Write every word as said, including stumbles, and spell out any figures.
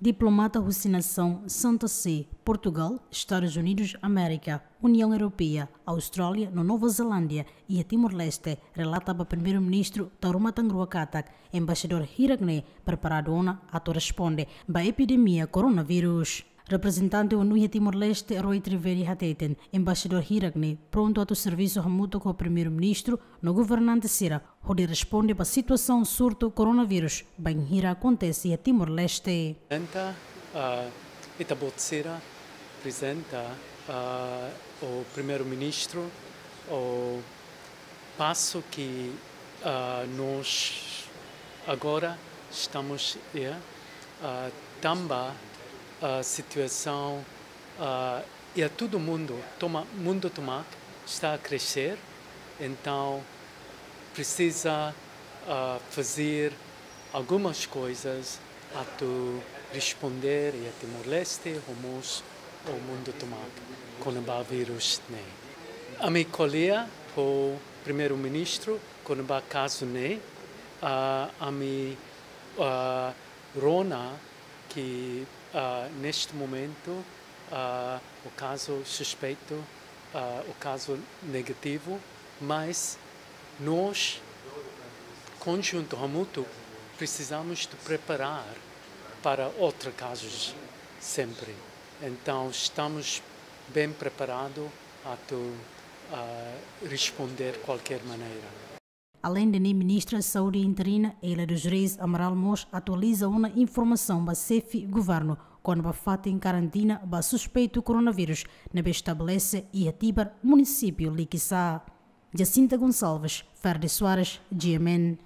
Diplomata husi nasaun Santa Sé, Portugal, Estadus Unidus Amérika, Uniaun Europeia, Austrália no Nova Zelándia iha Timor-Leste relata ba Primeiru-Ministru tau ruma tan rua katak embaixadór hirak ne'e preparadu ona atu responde ba epidemia koronavírus. Reprezentante ONU iha Timor-Leste, Roy Trivedi, hateten embaixadór hirak ne'e prontu atu servisu hamutuk ho Primeiru-Ministru no governante sira hodi responde ba situasaun surtu koronavírus bainhira akontese iha Timor-Leste. Apresenta, ah, ita-boot sira, apresenta, ah, o Primeiru-Ministru, o pasu ke, ah, nos agora estamos, yeah, ah, tanba, ah, situasaun, ah, iha todo mundo, toma, mundo tomak está a crescer, entaun presiza, ah, fazer algumas coisas atu responder iha Timor-Leste, ho mós o mundo tomak, kona-ba vírus ne'e. Ami ko'alia ho Primeiru-Ministru kona-ba kazu ne'e, ah, ami, ah, rona ke, ah, neste momento, ah, o kazu suspeitu, ah, o kazu negativu, mas nos konjuntu hamutuk precisamos de preparar para outros casos sempre. Entaun, estamos bem preparados atu, ah, responder qualquer maneira. Aleinde ne'e, Ministra Saúde interina, Eila dos Reis Amaral, mós atualiza ona informasaun ba xefe governu kona-ba fatin karantina ba suspeitu koronavírus ne'ebé estabelese iha Tibar, munisípiu Likisá. Jacinta Gonçalves, Ferde Soares, G M N.